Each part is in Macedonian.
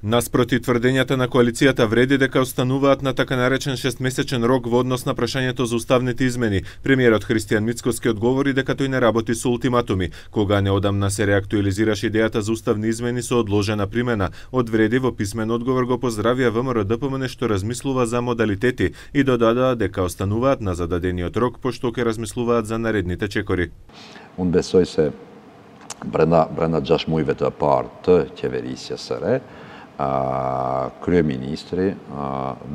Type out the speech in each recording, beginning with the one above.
Наспроти тврдењата на коалицијата вреди дека остануваат на така наречен 6-месечен рок во однос на прашањето за уставните измени. Премиерот Христијан Мицкоски одговори дека тој не работи со ултиматуми. Кога неодамна се реактуализираше идејата за уставни измени со одложена примена, од вреди во писмен одговор го поздравија ВМРО-ДПМН што размислува за модалитети и додадаа дека остануваат на зададениот рок пошто ќе размислуваат за наредните чекори. Unë besoj se brenda 6 muajve të parë të qeverisjes së re, kryeministri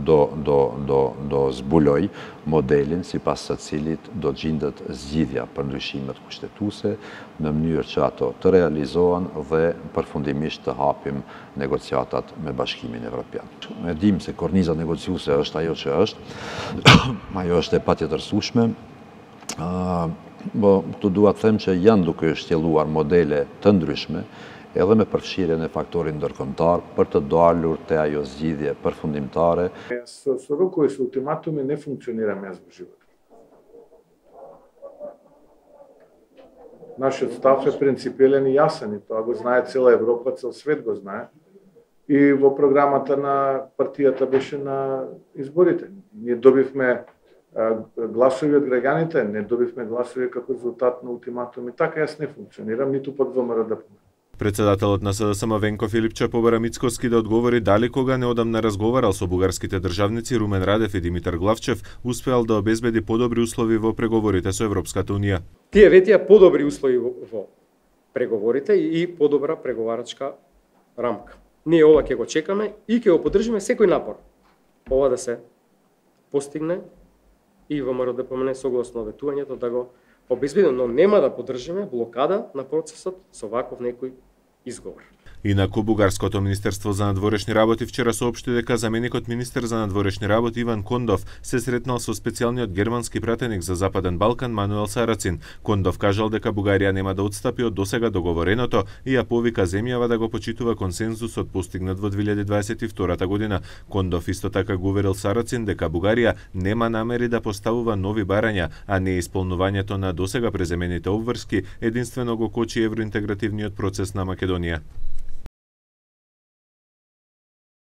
do zbuloj modelin sipas së cilit do gjendet zgjidhja për ndryshimet kushtetuese në mënyrë që ato të realizohen dhe përfundimisht të hapim negociatat me Bashkimin Evropian. Ne dim se korniza negociuese është ajo që është, ajo është e patjetërsueshme. Këtu dua të them që janë duke shtjelluar modele të ndryshme edhe me përfshirjen e faktorit ndërkombëtar për të dalur te ajo zgjidhje përfundimtare. Со рокови, со ултиматуми не функционираме јас во животот. Нашиот став е принципиелен и јасен, и тоа го знае цела Европа, цел свет го знае. И во програмата на партијата беше на изборите. Ние добивме гласови од граѓаните, не добивме гласови како резултат на ултиматуми. Така јас не функционирам, ниту под ВМРО-ДПМН. Председателот на СДСМ Венко Филипче побара Мицкоски да одговори дали кога неодамна разговарал со бугарските државници Румен Радев и Димитар Главчев успеал да обезбеди подобри услови во преговорите со Европската унија. Тие ветија подобри услови во преговорите и подобра преговарачка рамка. Ние ова ќе го чекаме и ќе го поддржиме секој напор ова да се постигне и ВМРО-ДПМН согласно ветувањето да го обезбедиме, но нема да поддржиме блокада на процесот со ваков некој изговор. Инаку, Бугарското министерство за надворешни работи вчера соопшти дека заменикот министер за надворешни работи Иван Кондов се сретнал со специјалниот германски пратеник за Западен Балкан Мануел Сарацин. Кондов кажал дека Бугарија нема да отстапи од досега договореното и ја повика земјава да го почитува консензусот постигнат во 2022 година. Кондов исто така го уверил Сарацин дека Бугарија нема намери да поставува нови барања, а не исполнувањето на досега преземените обврски единствено го кочи евроинтегративниот процес на Македонија.